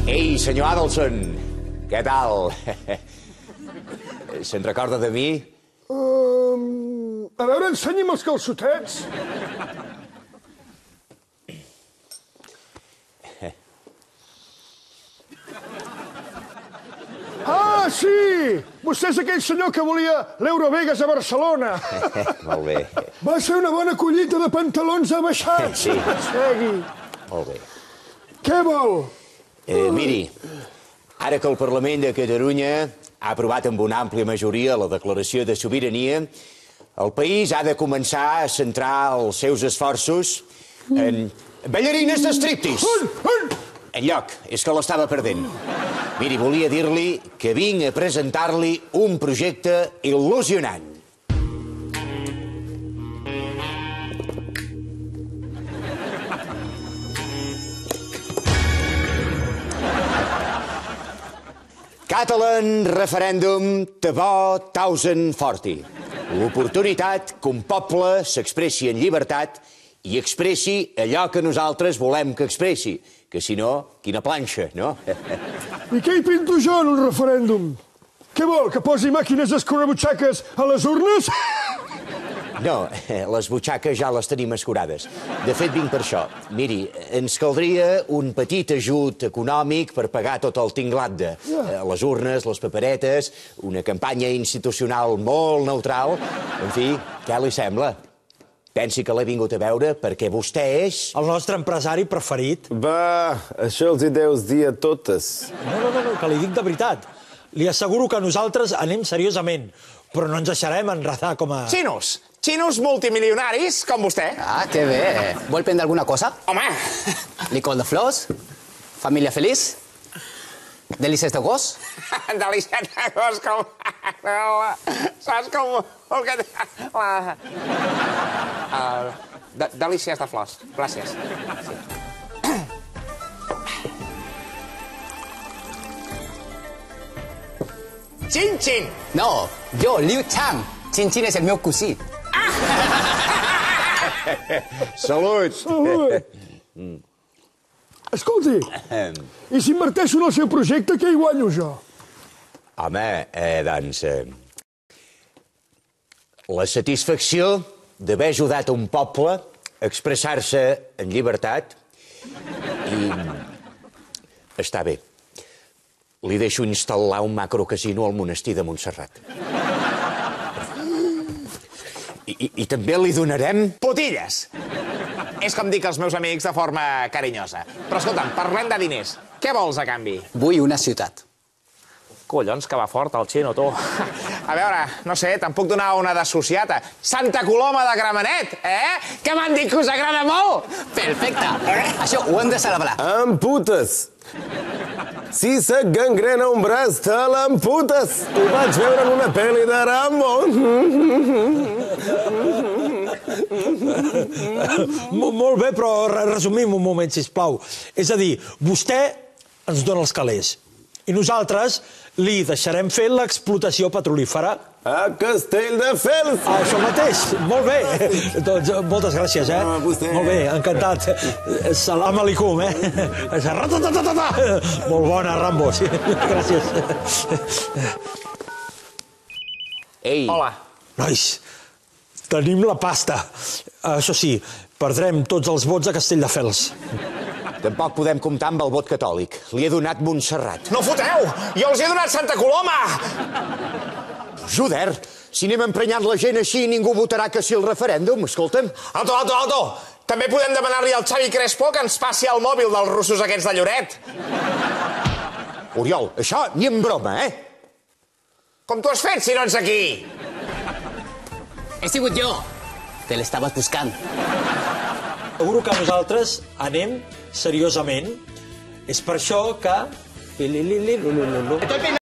Ei, senyor Adelson, què tal? Se'n recorda de mi? A veure, ensenyi'm els calçotets. Ah, sí! Vostè és aquell senyor que volia l'Eurovegas a Barcelona. Molt bé. Va ser una bona collita de pantalons abaixats. Sí. Segui. Molt bé. Què vol? Miri, ara que el Parlament de Catalunya ha aprovat amb una àmplia majoria la declaració de sobirania, el país ha de començar a centrar els seus esforços en ballarines de striptease. Enlloc, és que l'estava perdent. Miri, volia dir-li que vinc a presentar-li un projecte il·lusionant. Catalan Referendum Tebò 1040. L'oportunitat que un poble s'expressi en llibertat i expressi allò que nosaltres volem que expressi, que si no, quina planxa, no? I què hi pinto jo en un referèndum? Què vol, que posi màquines escurabutxaques a les urnes? No, les butxaques ja les tenim escurades. De fet, vinc per això. Miri, ens caldria un petit ajut econòmic per pagar tot el tinglat de les urnes, les paperetes, una campanya institucional molt neutral. En fi, què li sembla? Pensi que l'he vingut a veure perquè vostè és... El nostre empresari preferit. Va, això els hi deus dir a totes. No, que li dic de veritat. Li asseguro que nosaltres anem seriosament, però no ens deixarem enredar com a... Xinos multimilionaris, com vostè. Ah, que bé. Vol prendre alguna cosa? Home! Licor de flors? Família feliç? Delícies de gos? Delícies de gos, com... Saps com... Delícies de flors. Gràcies. Xin-xin! No, jo, Liu Chang. Xin-xin és el meu cosí. Salut! Escolti, i si inverteixo en el seu projecte, què hi guanyo jo? Home, doncs... La satisfacció d'haver ajudat un poble a expressar-se en llibertat i... Està bé. Li deixo instal·lar un macrocasino al monestir de Montserrat. I també li donarem... Putilles! És com dic als meus amics de forma carinyosa. Però escolta'm, parlem de diners. Què vols a canvi? Vull una ciutat. Collons, que va fort el xino, tu. A veure, no sé, te'n puc donar una d'associata. Santa Coloma de Gramenet, Que m'han dit que us agrada molt! Perfecte. Això ho hem de celebrar. Amputes! Si se't gangrena un braç, te l'amputes! Ho vaig veure en una pel·li de Rambo. Molt bé, però resumim un moment, sisplau. És a dir, vostè ens dona els calés i nosaltres li deixarem fer l'explotació petrolífera. A Castelldefels! Això mateix, molt bé. Doncs moltes gràcies, vostè. Molt bé, encantat. Salam aleikum, Molt bona, Rambo, sí. Gràcies. Ei! Hola. Nois, tenim la pasta. Això sí, perdrem tots els vots a Castelldefels. Tampoc podem comptar amb el vot catòlic. Li he donat Montserrat. No foteu! Jo els he donat Santa Coloma! Joder, si anem emprenyant la gent així, ningú votarà que sí al referèndum, escolta'm. Alto! També podem demanar-li al Xavi Crespo que ens passi el mòbil dels russos aquests de Lloret. Oriol, això ni en broma, Com t'ho has fet, si no ets aquí? He sigut jo. Te l'estaves buscant. Seguro que nosaltres anem seriosament. És per això que...